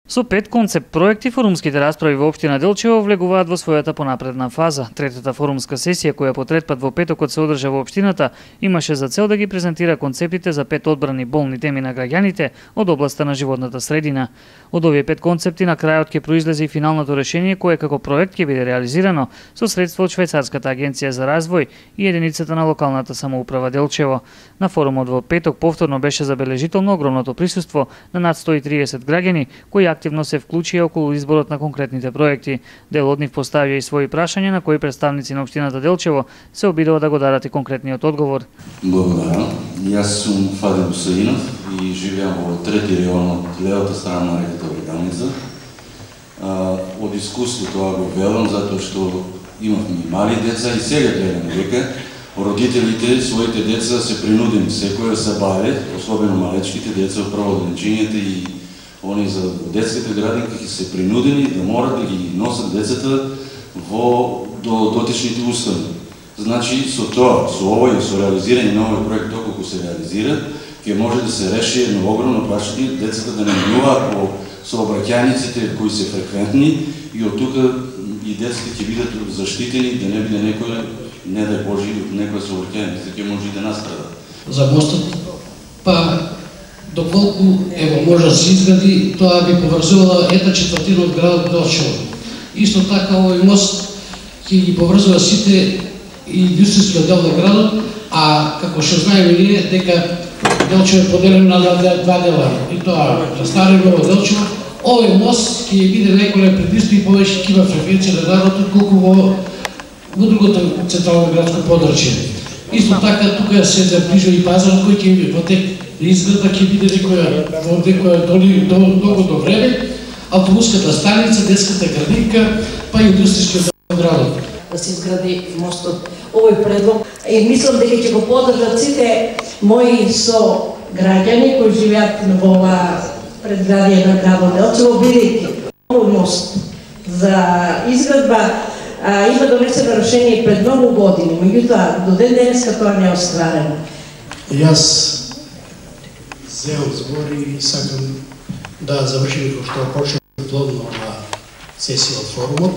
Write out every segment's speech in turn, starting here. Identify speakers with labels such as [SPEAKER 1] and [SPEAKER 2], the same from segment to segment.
[SPEAKER 1] Со 5 концепт проекти, форумските расправи во општина Делчево влегуваат во својата понапредна фаза. Третата форумска сесија, која по трет пат во петокот се одржа во општината, имаше за цел да ги презентира концептите за 5 одбрани болни теми на граѓаните од областа на животната средина. Од овие 5 концепти на крајот ќе произлезе и финалното решение кое како проект ќе биде реализирано со средства од Швајцарската агенција за развој и единицата на локалната самоуправа Делчево. На форумот во петок повторно беше забележително огромното присуство на над 130 граѓани кои активно се вклучија околу изборот на конкретните проекти. Дел од нив поставија и своји прашања на кои представници на општината Делчево се обидува да го дадат и конкретниот одговор.
[SPEAKER 2] Благодарам. Јас сум Фадил Усаинов и живеам во трети район од левата страна на реката Бриганица. Од искуство тоа го велам затоа што имавме и мали деца и сега гледаме дека родителите своите деца се принудени секој да се бават, особено малечките деца од прводенчињата и они за детските градинки ќе се принудени да морат да ги носат децата до дотичните установи. Значи, со тоа, со овој, со реализирање на овој проект, доколку се реализира, ќе може да се реши едно огромно прашање, децата да не минуваат по сообраќајниците кои се фреквентни и од тука и децата ќе бидат заштитени, да не биде некој, не дај Боже, некоја сообраќајница ќе може и да настрада.
[SPEAKER 3] За мостот, доколку може да се изгради, тоа би поврзувала 1/4 од градот Делчево. Исто така овој мост ќе ги поврзува сите индустријскиот дел на градот, а како што знаеме ние дека Делчево е поделено на два дела, и тоа на Старо и Ново Делчево. Овој мост ќе биде најголем предизвик и повеќе ќе има фреквенција на градот отколку во другото централно градско подрачје. Исто така тука се заближува и пазарот кој ќе во тек изгледа ќе биде некоја долго до време, автобуската станица, детската градинка, па индустријскиот градот.
[SPEAKER 4] Да се изгради мостот, овој предлог и мислам дека ќе го поддржат сите мои сограѓани кои живеат во ова предградие на градот Делчево, бидејќи овој мост за изградба има донесено решение пред многу години, меѓутоа до ден денеска тоа не е остварено.
[SPEAKER 3] Јас земам збор и сакам да завршим како што почна плодно оваа сесија од форумот.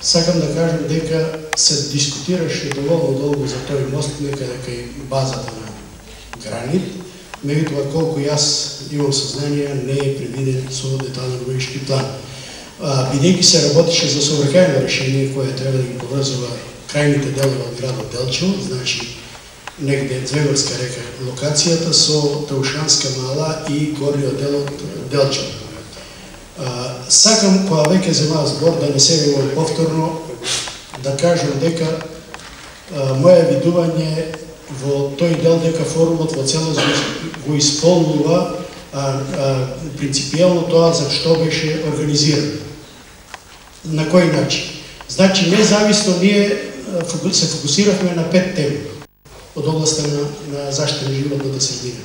[SPEAKER 3] Сакам да кажам дека се дискутираше доволно долго за тој мост некаде кај базата на Гранит, меѓутоа колку јас имам сознание не е предвиден со детален урбанистички план. Бидејќи се работеше за сообраќајно решение кое треба да ги поврзува крајните делови од градот Делчево, значи негде Звегорска река локацијата со Таушанска мала и горниот дел од Делчево. Сакам, кога веќе земав збор, да не се вивам повторно, да кажам дека моје видување во тој дел дека форумот во целост го исполнува принципијално тоа за што беше организиран. На кој начин? Значи, независно ние се фокусиравме на 5 теми од областта на заштита на животната средина.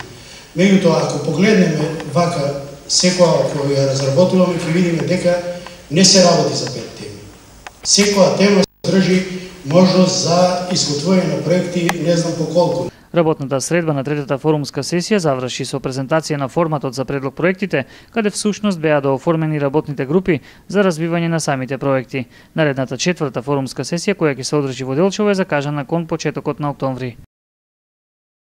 [SPEAKER 3] Меѓутоа, ако погледнеме вака секоја која ја разработуваме, ќе видиме дека не се работи за 5 теми. Секоја тема држи можност за изготвување на проекти не знам по колку.
[SPEAKER 1] Работната средба на третата форумска сесија заврши со презентација на форматот за предлог проектите, каде всушност беа дооформени работните групи за развивање на самите проекти. Наредната четврта форумска сесија, која ќе се одржи во Делчево, е закажана кон почетокот на октомври.